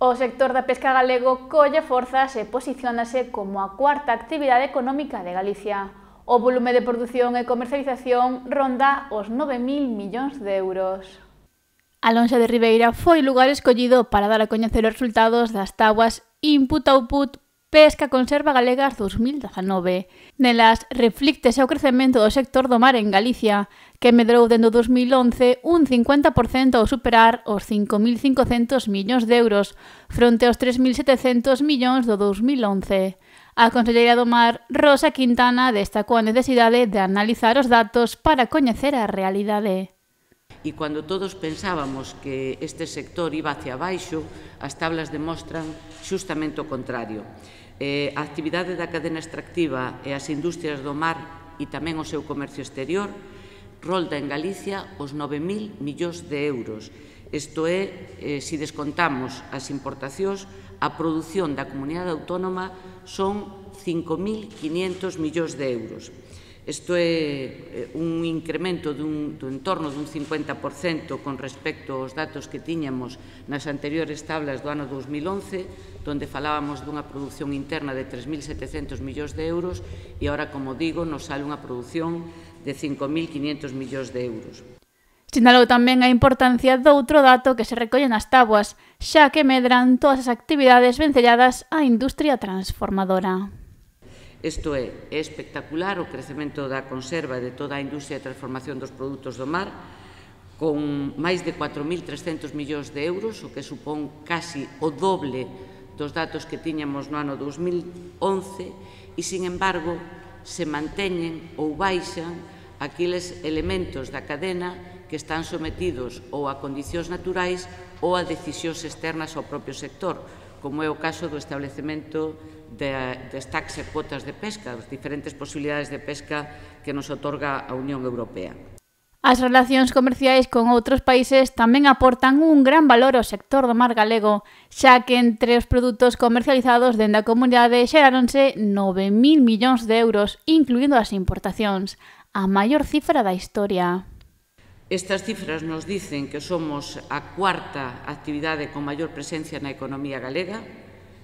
O sector da pesca galego colle forzas e posiciónase como a cuarta actividade económica de Galicia. O volume de produción e comercialización ronda os 9.000 millóns de euros. Alonso de Ribeira foi o lugar escollido para dar a coñecer os resultados das táboas Input-Output Pesca Conserva Galegas 2019. Nelas reflíctese o crecemento do sector do mar en Galicia, que medrou dende o 2011 un 50% ao superar os 5.500 millóns de euros, fronte aos 3.700 millóns do 2011. A conselleira do Mar, Rosa Quintana, destacou a necesidade de analizar os datos para coñecer a realidade. E cando todos pensábamos que este sector iba hacia baixo, as tablas demostran xustamente o contrario. A actividade da cadena extractiva e as industrias do mar e tamén o seu comercio exterior rolda en Galicia os 9.000 millóns de euros. Isto é, se descontamos as importacións, a produción da comunidade autónoma son 5.500 millóns de euros. Isto é un incremento do entorno dun 50% con respecto aos datos que tiñamos nas anteriores tablas do ano 2011, onde falábamos dunha produción interna de 3.700 millóns de euros e agora, como digo, nos sale unha produción de 5.500 millóns de euros. Sinalou tamén a importancia doutro dato que se recolle nas táboas, xa que medran todas as actividades vencelladas á industria transformadora. Isto é espectacular o crecemento da conserva de toda a industria de transformación dos produtos do mar, con máis de 4.300 millóns de euros, o que supón casi o doble dos datos que tiñamos no ano 2011, e, sin embargo, se manteñen ou baixan aqueles elementos da cadena que están sometidos ou a condicións naturais ou a decisións externas ao propio sector, como é o caso do establecemento das taxas e cuotas de pesca, as diferentes posibilidades de pesca que nos otorga a Unión Europea. As relacións comerciais con outros países tamén aportan un gran valor ao sector do mar galego, xa que entre os produtos comercializados dende a comunidade xeráronse 9.000 millóns de euros, incluindo as importacións, a maior cifra da historia. Estas cifras nos dicen que somos a cuarta actividade con maior presencia na economía galega.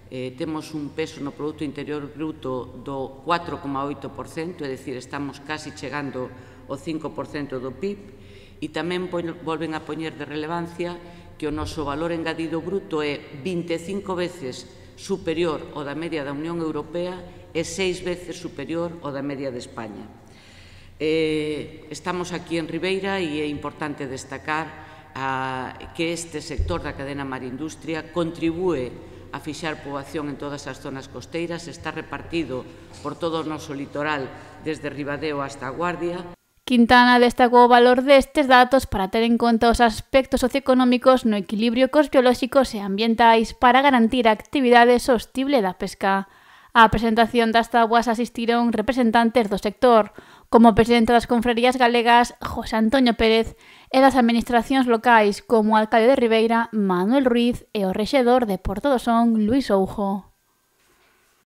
Temos un peso no Produto Interior Bruto do 4,8%, é dicir, estamos casi chegando ao 5% do PIB, e tamén volven a poñer de relevancia que o noso valor engadido bruto é 25 veces superior ao da media da Unión Europea e 6 veces superior ao da media de España. Estamos aquí en Ribeira e é importante destacar que este sector da cadena mar-industria contribúe a fixar poboación en todas as zonas costeiras, está repartido por todo o noso litoral, desde Ribadeo hasta a Guardia. Quintana destacou o valor destes datos para ter en conta os aspectos socioeconómicos no equilibrio cos biolóxicos e ambientais para garantir a actividade sostible da pesca. Á presentación das táboas asistiron representantes do sector, como o presidente das confrarías galegas, José Antonio Pérez, e das administracións locais, como o alcalde de Ribeira, Manuel Ruiz, e o rexedor de Porto do Son, Luís Oujo.